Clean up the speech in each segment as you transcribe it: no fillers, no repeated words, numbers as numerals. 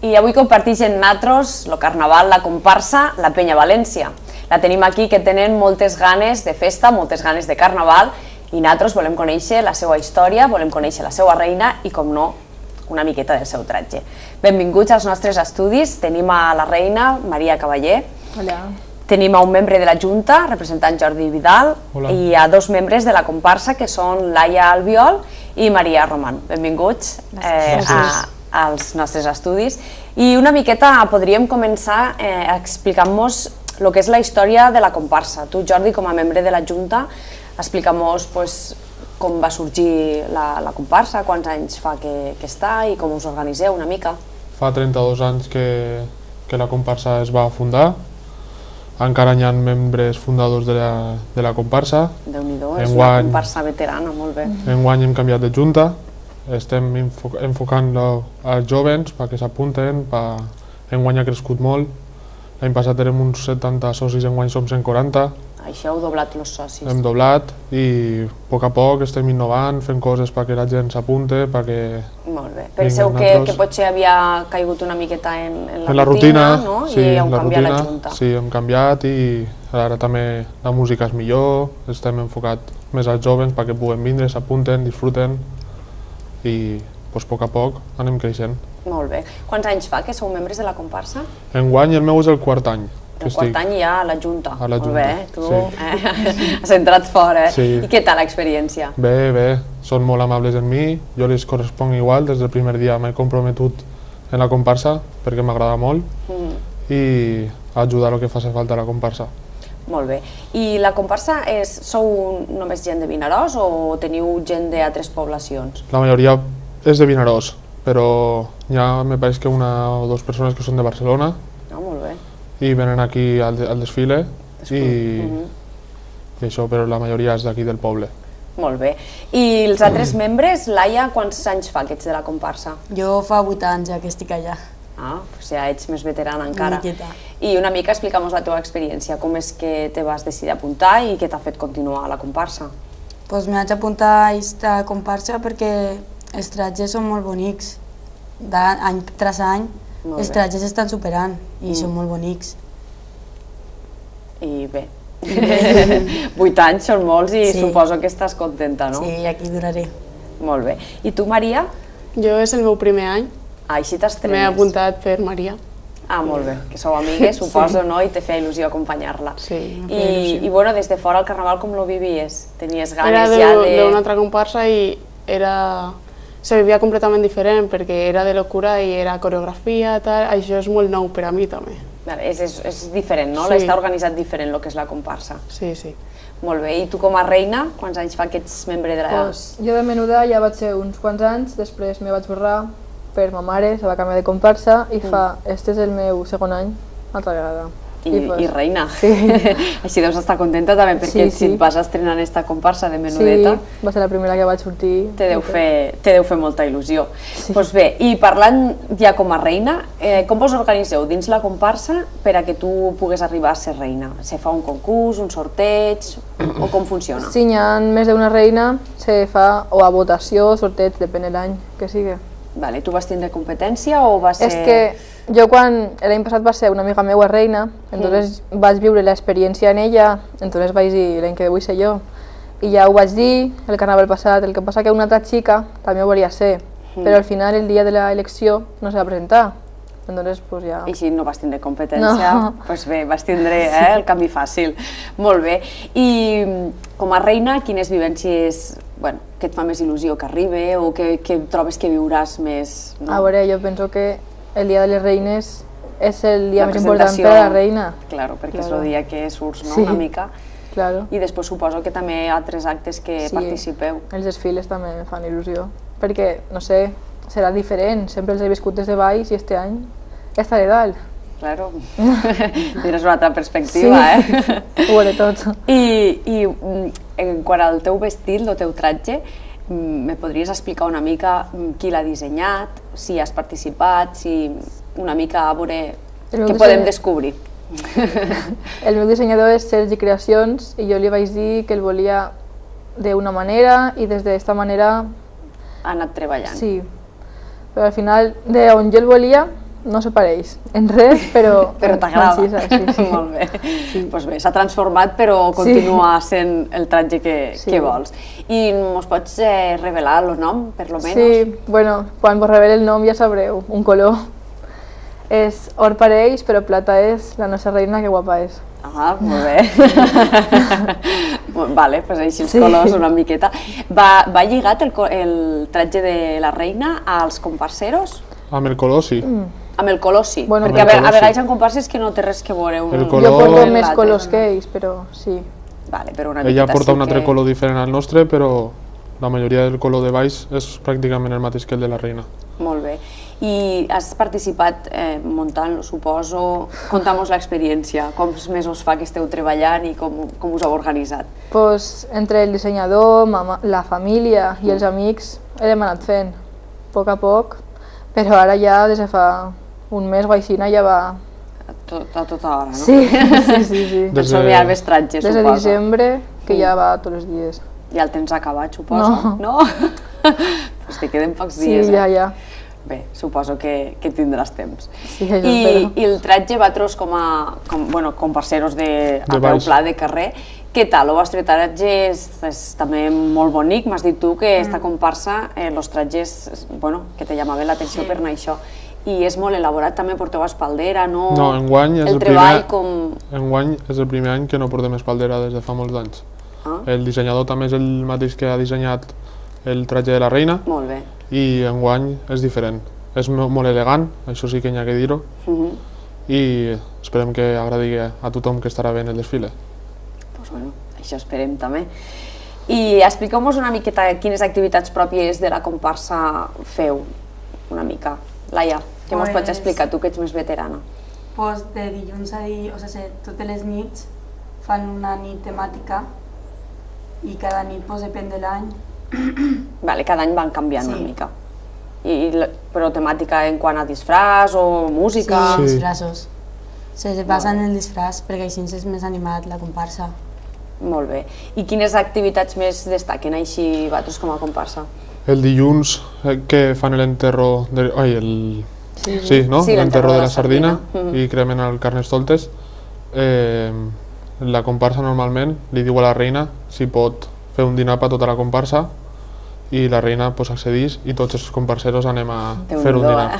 i avui comparteix amb nosaltres el carnaval, la comparsa, la Penya València. La tenim aquí, que tenen moltes ganes de festa, moltes ganes de carnaval, i nosaltres volem conèixer la seva història, volem conèixer la seva reina i, com no, una miqueta del seu tratge. Benvinguts als nostres estudis. Tenim a la reina Maria Cavaller. Hola. Tenim a un membre de la Junta, representant Jordi Vidal. Hola. I a dos membres de la comparsa, que són Laia Albiol i Maria Roman. Benvinguts als nostres estudis. I una miqueta podríem començar explicant-nos el que és la història de la comparsa. Tu, Jordi, com a membre de la Junta, explica'm-nos com va sorgir la comparsa, quants anys fa que està i com us organiseu una mica. Fa 32 anys que la comparsa es va fundar. Encara hi ha membres fundadors de la comparsa. Déu-n'hi-do, és una comparsa veterana, molt bé. Enguany hem canviat de junta, estem enfocant-lo als jovens perquè s'apunten. Enguany ha crescut molt, l'any passat érem uns 70 socis, enguany som 140. Això heu doblat els socis. Hem doblat i a poc estem innovant, fent coses perquè la gent s'apunte, perquè... Molt bé. Penseu que potser havia caigut una miqueta en la rutina, no? I heu canviat la junta. Sí, hem canviat i ara també la música és millor, estem enfocat més als jovens perquè puguem vindre, s'apunten, disfruten i a poc anem creixent. Molt bé. Quants anys fa que sou membres de la comparsa? Enguany el meu és el quart any. El quart any ja a la Junta. A la Junta, molt bé, tu has entrat fora, eh? I què tal l'experiència? Bé, són molt amables amb mi, jo les corresponc igual, des del primer dia m'he comprometut en la comparsa perquè m'agrada molt i ajudar el que faci falta a la comparsa. Molt bé. I la comparsa sou només gent de Vinaròs o teniu gent d'altres poblacions? La majoria és de Vinaròs, però hi ha, me pareix que una o dues persones que són de Barcelona. Molt bé. I venen aquí al desfile i això, però la majoria és d'aquí del poble. Molt bé. I els altres membres, Laia, quants anys fa que ets de la comparsa? Jo fa 8 anys ja que estic allà. Doncs ja ets més veterana encara. Una miqueta. I una mica explica'm la teva experiència, com és que te vas decidir apuntar i què t'ha fet continuar a la comparsa? Doncs me vaig apuntar a aquesta comparsa perquè els tratges són molt bonics, any tras any. Els tratges estan superant i són molt bonics. I bé, 8 anys són molts i suposo que estàs contenta, no? Sí, aquí duraré. Molt bé. I tu, Maria? Jo és el meu primer any. Així t'estrenes. M'he apuntat per Maria. Molt bé, que sou amigues, suposo, no? I te feia il·lusió acompanyar-la. Sí, em feia il·lusió. I bueno, des de fora el carnaval com lo vivies? Tenies ganes ja de... Era d'una altra comparsa i se vivia completament diferent perquè era de locura i era coreografia, tal. Això és molt nou per a mi també. És diferent, no? Està organitzat diferent el que és la comparsa. Sí, sí. Molt bé. I tu com a reina, quants anys fa que ets membre de la... Jo de menuda ja vaig ser uns quants anys, després me vaig borrar per ma mare, se va canviar de comparsa i este és el meu segon any, altra vegada. I reina. Així deus estar contenta també perquè si et vas estrenar en esta comparsa de menudeta... Sí, va ser la primera que vaig sortir. Te deu fer molta il·lusió. Doncs bé, i parlant ja com a reina, com vos organiseu dins la comparsa per a que tu pugues arribar a ser reina? Se fa un concurs, un sorteig o com funciona? Si hi ha més d'una reina, se fa o a votació, sorteig, depèn de l'any que sigui. Tu vas tindre competència o va ser...? És que jo quan l'any passat va ser una amiga meva reina, entonces vaig viure l'experiència en ella, entonces vaig dir l'any que vull ser jo. I ja ho vaig dir el carnaval passat, el que passa que una altra xica també ho volia ser, però al final el dia de l'elecció no se va presentar. Entonces, pues ja... I si no vas tindre competència, doncs bé, vas tindre el canvi fàcil. Molt bé. I com a reina, quines vivències que et fa més il·lusió que arribi o que trobes que viuràs més? A veure, jo penso que el dia de les reines és el dia més important per a la reina. Claro, perquè és el dia que surts una mica. I després suposo que també hi ha altres actes que participeu. Els desfiles també em fan il·lusió, perquè, no sé, serà diferent, sempre els he viscut des de baix i este any estaré dalt. Claro, tindràs una altra perspectiva, ho veuré tot. I quant al teu vestit, el teu tratge, me podries explicar una mica qui l'ha dissenyat, si has participat, si una mica a veure què podem descobrir? El meu dissenyador és Sergi Creacions i jo li vaig dir que el volia d'una manera i des d'esta manera... Ha anat treballant. Sí, però al final, d'on jo el volia, no se pareix en res, però t'agrada. Sí. Molt bé. Pues bé, s'ha transformat però continua sent el tratge que vols. I mos pots revelar el nom, per lo menos? Sí, bueno, quan vos revele el nom ja sabreu, un color. És or pareix, però plata és, la nostra reina, que guapa és. Ah, molt bé. Vale, pues així els colors una miqueta. Va lligat el tratge de la reina als comparseros? Amb el color sí. Amb el color sí, Bueno, perquè a vegades hi ha comparses que no té res que veure. El Jo color- porto més colors que ells, però sí. Vale, però una Ella miqueta porta sí un altre que... color diferent al nostre, però la majoria del color de baix és pràcticament el mateix que el de la reina. Molt bé. I has participat muntant, suposo. Conta'm-nos l'experiència. Quants mesos fa que esteu treballant i com us heu organitzat? Pues, entre el dissenyador, la família i els amics hem anat fent, a poc, però ara ja des de fa un mes o així ja va... A tota hora, no? Sí. Per somiar els tratges, Des de suposo. desembre, que ja va tots els dies. Ja el tens acabat, suposo? No. Pues te queden pocs dies, Sí, ja. Bé, suposo que tindràs temps. Sí, això espero. I el tratge vosaltres com parceros a peu baix. pla de carrer, què tal? El vostre tratge és també molt bonic. M'has dit tu que esta comparsa, els tratges, que te llamaven l'atenció per anar això. I és molt elaborat, també porteu espaldera, no? No, enguany és el treball com... Enguany és el primer any que no portem espaldera des de fa molts anys. El dissenyador també és el mateix que ha dissenyat el tratge de la reina. Molt bé. I enguany és diferent. És molt elegant, això sí que n'hi ha que dir-ho, i esperem que agradi a tothom que estarà veient el desfile. Doncs bueno, això esperem també. I expliqueu-nos una miqueta quines activitats pròpies de la comparsa feu, una mica. Laia, què mos pots explicar, tu que ets més veterana? Pues de dilluns a dilluns, o sigui, totes les nits fan una nit temàtica i cada nit pues, depèn de l'any. Vale, cada any van canviant una mica. Però temàtica en quant a disfraç o música? Sí, disfraços. Se basen en el disfraç perquè així és més animat la comparsa. Molt bé. I quines activitats més destaquen així vosaltres com a comparsa? El dilluns que fan l'enterro de... l'enterro de la sardina i cremen el carnestoltes, la comparsa normalment li diu a la reina si pot fer un dinar per tota la comparsa i la reina accedeix i tots els comparseros anem a fer un dinar.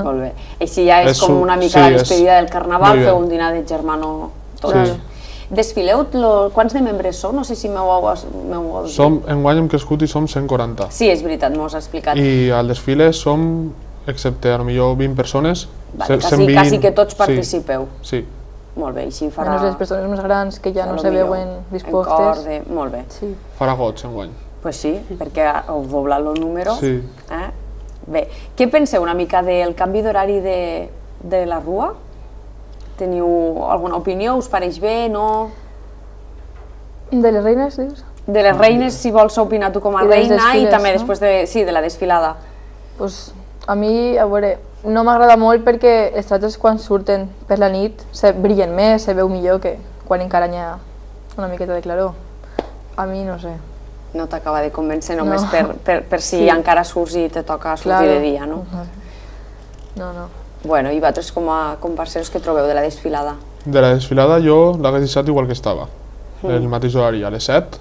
Molt bé. Així ja és com una mica la despedida del carnaval, fer un dinar de germano tots. Desfileu, quants de membres sou? No sé si m'heu dit. Enguany hem crescut i som 140. Sí, és veritat, m'ho has explicat. I al desfile som, excepte potser 20 persones, 120... Quasi que tots participeu. Sí. Molt bé, així farà... Menys les persones més grans que ja no se veuen dispostes. Molt bé. Farà goig enguany. Pues sí, perquè heu doblat el número. Sí. Bé, què penseu una mica del canvi d'horari de la Rua? Teniu alguna opinió? Us pareix bé, no? De les reines, dius? De les reines, si vols opinar tu com a reina, i també després de la desfilada. Pues a mi, a veure, no m'agrada molt perquè els tratges quan surten per la nit brillen més, se veu millor que quan encara hi ha una miqueta de claror. A mi no sé. No t'acaba de convèncer només per si encara surts i te toca sortir de dia, no? No. Bueno, i vosaltres com a comparseros què trobeu de la desfilada? De la desfilada jo l'hagués deixat igual que estava, el mateix horari, a les 7,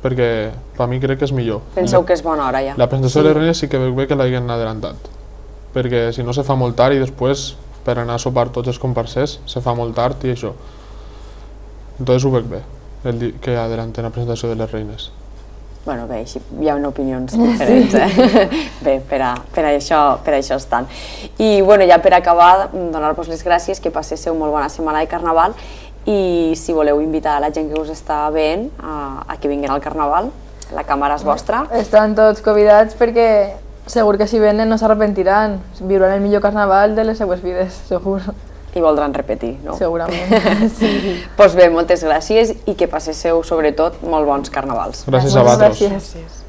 perquè per mi crec que és millor. Penseu que és bona hora ja? La presentació de les reines sí que veig bé que l'hagin adelantat, perquè si no se fa molt tard i després per anar a sopar tots els comparsers se fa molt tard i això. Entonces ho veig bé, que adelanten la presentació de les reines. Bueno, bé, així hi ha opinions diferents, Bé, per això estan. I ja per acabar, donar-vos les gràcies, que passéssiu molt bona setmana de Carnaval i si voleu invitar a la gent que us està veient a que vinguin al Carnaval, la càmera és vostra. Estan tots convidats perquè segur que si venen no s'arrepentiran, viuran el millor Carnaval de les seues vides, segur. I voldran repetir, no? Segurament, sí. Doncs bé, moltes gràcies i que passéssiu, sobretot, molt bons carnavals. Gràcies a vosaltres. Gràcies.